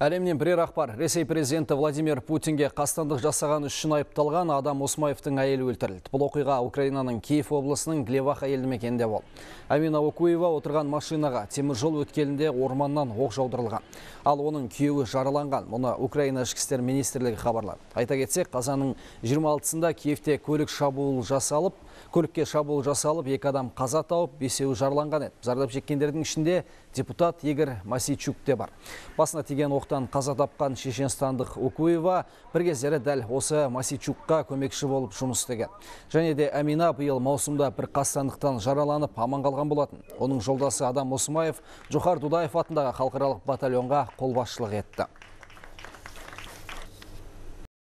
Әлемнен бірер ақпар. Ресей президенті Владимир Путинге қастандық жасаған үшін айыпталған Адам Осмаевтың әйелі өлтірілді. Бұл оқиға Украинаның Киев облысының Глеваха елді мекенінде болды. Амина Окуева отырған машинаға темір жол өткелінде орманнан оқ жаудырылған. Ал оның күйеуі жараланған. Мұны Украина ішкі істер министрлігі хабарлады. Айта кетсек, қазанның 26-сында Киевте көлікке шабуыл жасалып, 2 адам қаза тауып, 5-еуі жараланған еді. Зардап шеккендердің ішінде депутат Игорь Масичук те бар. Басына тиген оқтан қаза тапқан шешенстандық Окуева бір кездері дәл осы Масичукқа көмекші болып жұмыс істеген. Және де Амина биыл маусымда бір қастандықтан жараланып аман қалған болатын. Оның жолдасы Адам Осмаев Джохар Дудаев атындағы халықаралық батальонға қолбасшылық етті.